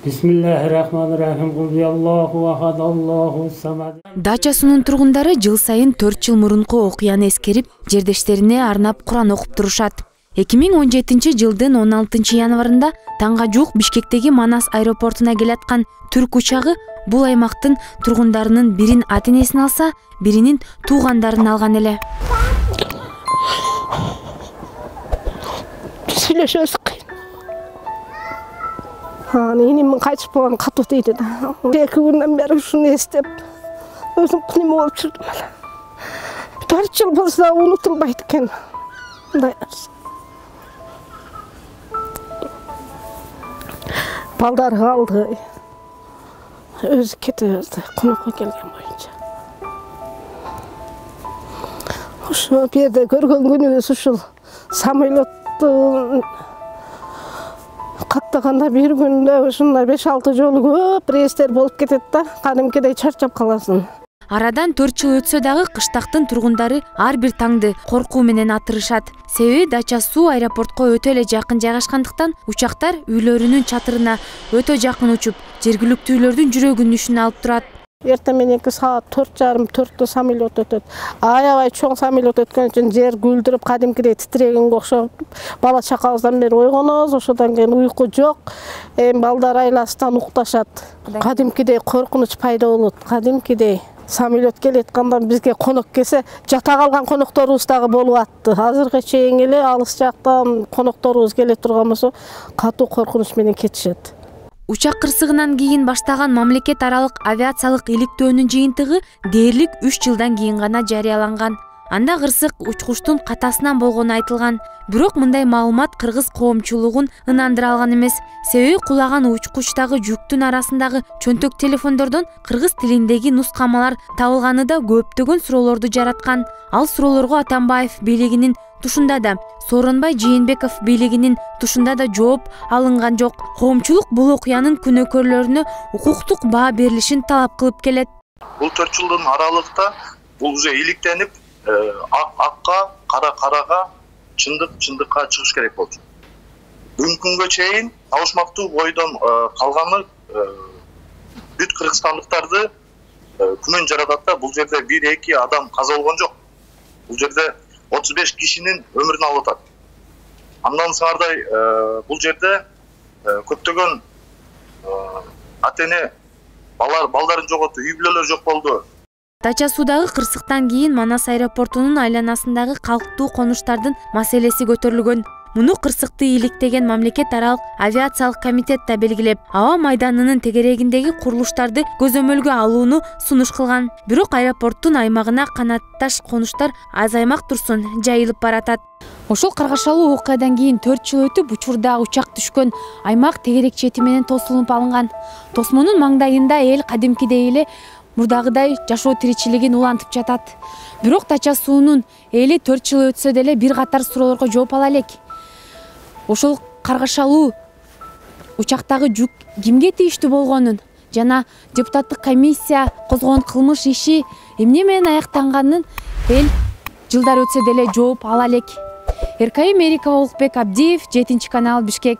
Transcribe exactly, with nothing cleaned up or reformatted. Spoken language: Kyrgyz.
Бисмиллахиррахманиррахим. Кулхуаллаху ахад, Аллаху самад. Дача суунун тургундары жыл сайын төрт жыл мурунку окуяны эскерип, жердештерине арнап Куран окуп турушат. эки миң он жетинчи жылдын он алтынчы январында таңга жуук Бишкектеги Манас аэропортуна келаткан түрк учагы бул аймактын тургундарынын бирин ата-энесин алса, биринин туугандарын алган эле. Сүйлөшөбүз кыйын. Энемин кайтып болгон катуу дейт да. эки күндөн бери ушуну эстеп, өзүм кыймыл болуп жүрдүм эле. төрт жыл болсо унутулбайт экен. Мындай балдар калды. Өзү кете берди, конокко келген боюнча. Ошо жерде көргөн күнүбүз ушул самолетту каттаганда бир күндө ушундай беш алты жолу көп рейстер болуп кетет да, кадимкидей чарчап каласың. Арадан төрт жыл өтсө дагы кыштактын тургундары ар бир таңды коркуу менен атырышат. Себеби Дача суу аэропортко өтө эле жакын жайгашкандыктан учактар үйлөрүнүн чатырына өтө жакын учуп, жергиликтүүлөрдүн жүрөгүн алып турат. Эртең мененки саат төрт жарым төрттө самолет өтөт. Аябай чоң самолет өткөн үчүн жер гүлдүрүп, кадимкидей титирегенге окшоп, бала чакабыздан бери ойгонобуз, ошодон кийин уйку жок. Эми балдар айласынан укташат. Кадимкидей коркунуч пайда болот, кадимкидей. Самолет келетканда бизге конок келсе, жата калган конокторубуз дагы болуп атты. Азыркы чейин эле алыс жактан конокторубуз келе турган болсо, катуу коркунуч менен кетишет. Учак кырсыгынан кийин баштаган мамлекет аралык авиациялык иликтөөнүн жыйынтыгы дээрлик үч жылдан кийин гана жарыяланган. Анда кырсык учкучтун катасынан болгону айтылган. Бирок мындай маалымат кыргыз коомчулугун ынандыра алган эмес. Себеби кулаган учкучтагы жүктүн арасындагы чөнтөк телефондордон кыргыз тилиндеги нускамалар табылганы да көптөгөн суроолорду жараткан. Ал суроолорго Атамбаев бийлигинин тушунда да, Сооронбай Жээнбеков бийлигинин тушунда да жооп алынган жок. Коомчулук бул окуянын күнөөкөрлөрүнө укуктук баа берилишин талап кылып келет. Бул төрт жылдын аралыкта бул уже иликтенип, акка, кара карага, чындык чындыкка чыгыш керек болчу. Бүгүнкү күнгө чейин табышмактуу бойдон калганы бүт кыргызстандыктарды күмөн жаратат да, бул жерде бир эки адам каза болгон жок. Бул жерде отуз беш кишинин өмүрүн алып атат. Андан сыңардай бул жерде көптөгөн ата-эне балдарын жоготту, үй бүлөлөр жок болду. Дача суудагы кырсыктан кийин Манас аэропортунун айланасындагы калктуу конуштардын маселеси көтөрүлгөн. Муну кырсыкты иликтеген мамлекет аралык авиациялык комитет да белгилеп, аба майданынын тегерегиндеги курулуштарды көзөмөлгө алууну сунуш кылган. Бирок аэропорттун аймагына канатташ конуштар азаймак турсун жайылып баратат. Ошол каргашалуу окуядан кийин төрт жыл өтүп, учурда учак түшкөн аймак тегерек чети менен тосулуп алынган. Тосмонун маңдайында эл кадимкидей эле мурдагыдай жашоо тиричилигин улантып жатат. Бирок Дача суунун эли төрт жыл өтсө деле бир катар суроолорго жооп ала элек. Ошол каргашалуу учактагы жүк кимге тийиштүү болгонун жана депутаттык комиссия козгогон кылмыш иши эмне менен аяктанганын эл жылдар өтсө деле жооп ала элек. Эркайым Мерикова, Улукбек Абдиев, жетинчи канал, Бишкек.